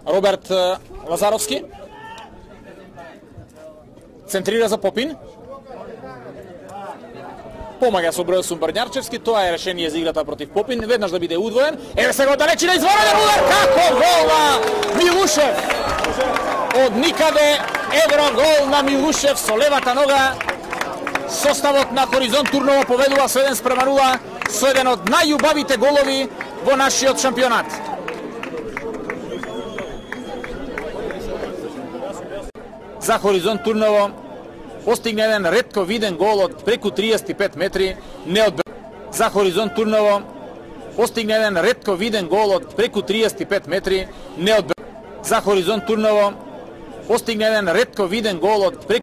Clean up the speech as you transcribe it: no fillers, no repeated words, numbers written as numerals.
Роберт Лазаровски центрира за Попин. Помага со Бројсун Брњарчевски, тоа е решение за играта против Попин, веднаш да биде удвоен. Еве сега далечи на изворен удар, како гол на Милушев! Од никаде евро гол на Милушев со левата нога. Составот на Хоризонт Турново поведува со 1:0 со еден од најубавите голови во нашиот шампионат. За Хоризонт Турново постигна еден ретко виден гол од преку 35 метри, За Хоризонт Турново постигна еден ретко виден гол од преку 35 метри, За Хоризонт Турново постигна еден ретко виден гол од преку